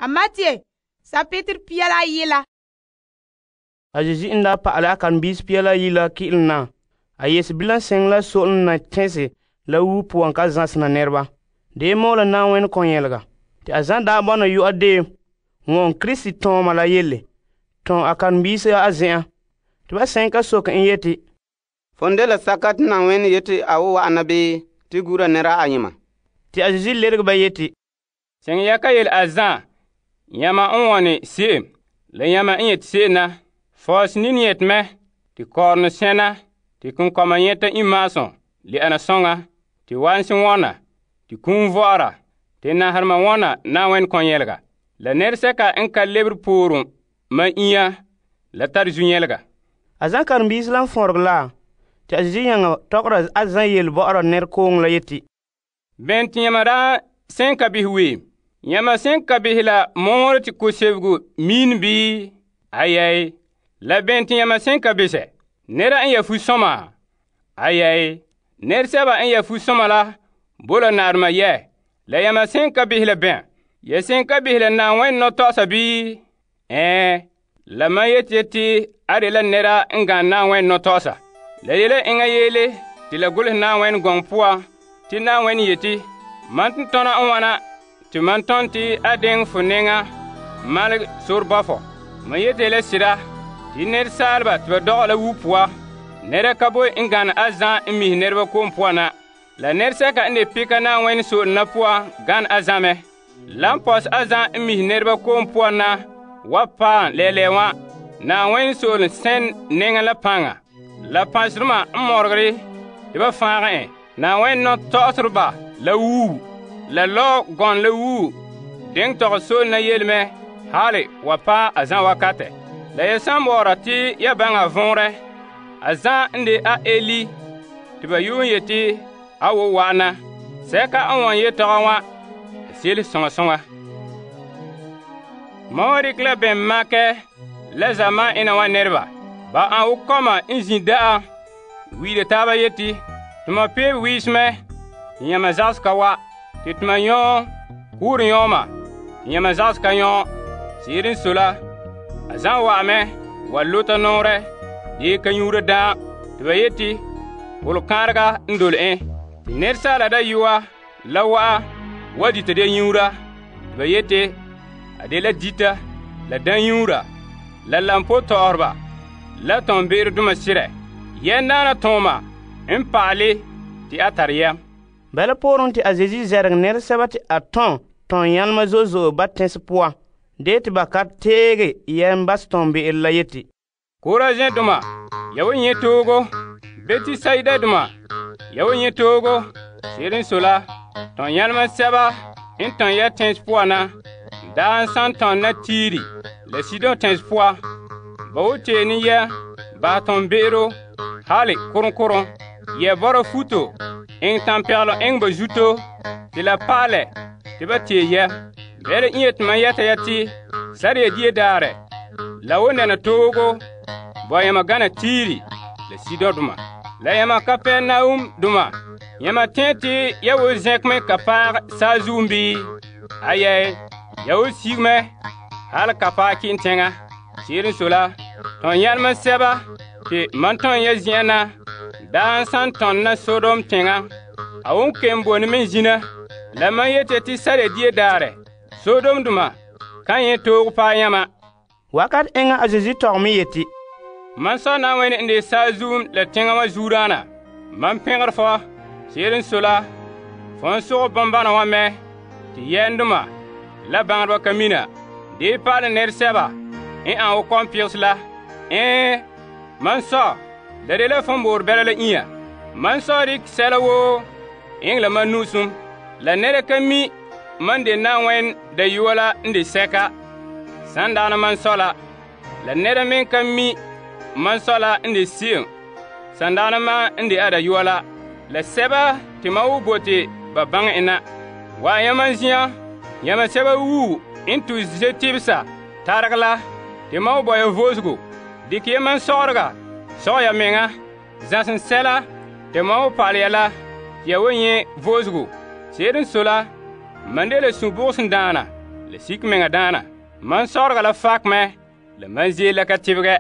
A Matthew, sapetɛ pia la ayi la. A Yesu n daa pa'alɛ a karen-biisi pia la ayi la ki'ilom na, a yese bilam seŋem la so'olom na tɛn'se la wuo poan ka zãsena nɛreba. De mɔɔla Na'ayenɛ kɔnyɛlega. Te a zan daa bɔna yu'a deem wɔŋɛ Krista tɔɔma la yele tɔn a karen-biisi a zen'an. Te ba sɛn ka soke en yeti, Fon dela saka te Na'ayenɛ yete a wo wa'ana bii te gura nɛra ayema? Te a Yesu lerege ba yeti, Seŋ ya ka yele a zan, yãma n wɔne se'em, la yãma n yete se'em na. Fɔɔs nini yete mɛ, te kɔɔrɔnɔ sɛna, te konkɔma nyɛta imaasum le ana soŋa, te wansi wɔna, te kum vɔ'ɔra, te naharema wɔna Na'ayenɛ kɔnyɛlega. La nɛresɛka n ka lebere pooren ma inya, la tare zu-nyɛlega. A zan karen-biisi la n fɔnregɛ la, te a Yesu nyaŋɛ tɔgɔra a zan yele bɔ'ɔra nɛrekooŋɔ la yeti, Bɛn te yãma daa sẽn ka behɛ weem? Yãma sẽn ka behɛ la mɔŋɔrɛ te ko-sebego miin bii? Ayai. La bɛn te yãma sẽn ka besɛ? Nɛra n ya fu-sɔma? Ayai. Nɛresɛba n ya fu-sɔma la bo la naarema yɛ. La yãma sẽn ka behɛ la bɛn? Ya sẽn ka behɛ la Na'ayenɛ nɔtɔgɔsa bii? La mam yeti a de la nɛra n gane Na'ayenɛ nɔtɔgɔsa. La yele enŋa yeele te la golehɛ Na'ayenɛ gɔŋɔ poan te Na'ayenɛ yeti, mam tɔna n wana te mam tɔn te a deŋɛ fo nɛŋa malegɛ sore ba fɔ. Mam yete la sira te nɛresaaleba te ba dɔgɛ la wuo poa, nɛra ka boe n gane a zan n mihe nɛreba ko'om poan na. La nɛresɛka n de peka Na'ayenɛ so'olem na poan gane a zan mɛ. La n pɔs a zan n mihe nɛreba ko'om poan na wa paam lɛɛlɛɛ wã. Na'ayenɛ so'olem sɛn nɛŋa la paŋa, la pãnserema n mɔregere te ba fãagɛ en. Na'ayenɛ nɔtɔgɔsereba la wuu, la lɔ gɔn la wuu, deŋ tɔgɛ soolem na yelemɛ hali wa paɛ a zan wakatɛ. La ya san bɔɔra te ya baŋɛ a vɔnrɛ, a zan n de a Eli te ba yuun yeti a wo wa'ana. Sɛka n wɔn yetɔgɔ wã, a seele sõŋa sõŋa. Mam wa dikɛ la bɛn makɛ la zamaan ena wa nɛreba. Ba an wo kɔma n zin da'a wi'ira taaba yeti, tuma peebe wiismɛ, te yãma zagsɛ ka wa, te tuma yɔɔ kuurɛ yɔɔma, te yãma zagsɛ ka yɔɔ. Se'ere n sɔe la, a zan wa'amɛ wa lota nɔɔrɛ dee ka nyuura daam, te ba yeti polokãarega n dole en. Te nɛresaala dayɔa la wa'a wa dita de nyuura, te ba yeti a de la dita, la danyuura, la lampo tɔɔreba, la tɔnbe'erodoma sirɛ. Yɛndaana tɔɔma n pa'ale te a tare yɛm. Bala pooren te a Yesu zɛrɛgɛ nɛresɛba te a tɔn yãlema zo'e zo'e ba tɛnse poan, dee te ba ka teege yɛm bas tɔnbe'ero la yeti, Korazin-doma, ya wo nyɛ toogo. Betisaida-doma, ya wo nyɛ toogo. Se'ere n sɔe la, tɔn yãlema sɛba n tɔn ya tɛnse poan na daa n san tɔn na Tiiri la Sidon tɛnse poan, ba wo tee ne yɛ basɛ tɔnbe'ero hali korom-korom, yɛ bɔra futo eŋɛ tampɛgelum eŋɛ ba zuto te la pa'alɛ te ba tee yɛ. Bɛla n yeti mam yɛta ya te sariya die daarɛ la wo nɛna toogo bɔ yãma gana Tiiri la Sidon-doma. La yãma Kapernaum-doma, yãma tẽ te ya wo zẽkmɛ ka paag saazuum bii? Ayɛɛ, ya wo sigmɛ hali ka paag kɩ'n tẽŋa. Se'ere n sɔe la, tɔn yãlema sɛba te mam tɔn ya zen'an na daa n san tɔn na Sodom tẽŋa, a won kem bone me zina. La mam yete te sariya die daarɛ Sodom-doma kan yẽ toog paɛ yãma. Wakat eŋa a Yesu tɔgɛ me yeti, Man sɔ Na'ayenɛ n de saazuum la tẽŋa wa zuuraana, mam pẽgr fɔ. Se'ere n sɔe la, fo n sogɛ bõn-bãna wã mɛ tɩ yɛndoma la bãngdbã ka mina dee pa'alɛ nɛresɛba n an wo kɔm-pɩgs la. Man sɔ, la de la fõn boor bɛla la inya. Man sɔ dɩk sɛla woo eŋɛ la man nu'usum. La nɛra ka mi man de Na'ayenɛ dayɔa la n de sɛka. Sandaana man sɔ la nɛra me ka mi man sɔ la n de se'em. Sandaana ma n de a dayɔa la sɛba tɩ ma wo bote ba baŋɛ en na. Wa yãma zĩyã, yãma sɛba wuu n tu zetibsa targ la, tɩ ma wo bɔ ya voosgo. Dɩk ya man sɔgrega sɔg ya meŋa. Zãsem sɛla tɩ ma wo pa'al ya la tɩ ya wo nyɛ voosgo. Se'ere n sɔe la, man de la sũ-bʋgsem daana la sik meŋa daana. Man sɔrega la fakɛ mɛ, la man zeel la ka tebegɛ.